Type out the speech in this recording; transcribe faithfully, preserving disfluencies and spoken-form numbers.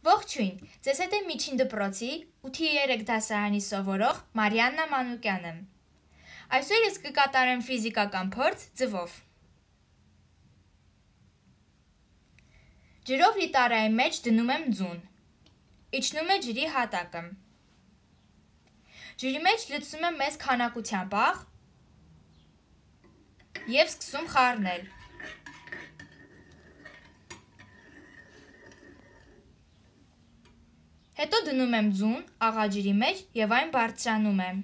Ողջույն, ձեզ հետ է միջին դպրոցի ութի երեք դասարանի սովորող Մարիաննա Մանուկյանն եմ։ Այսօր ես կկատարեմ ֆիզիկական փորձ ձվով։ Ջրով լի տարայի մեջ դնում եմ ձուն։ Իջնում է ջրի հատակը։ Ջրի մեջ լցնում եմ մեծ քանակությամբ աղ և սկսում խառնել։ Հետո դնում եմ ձուն աղաջրի մեջ և այն բարձրանում եմ։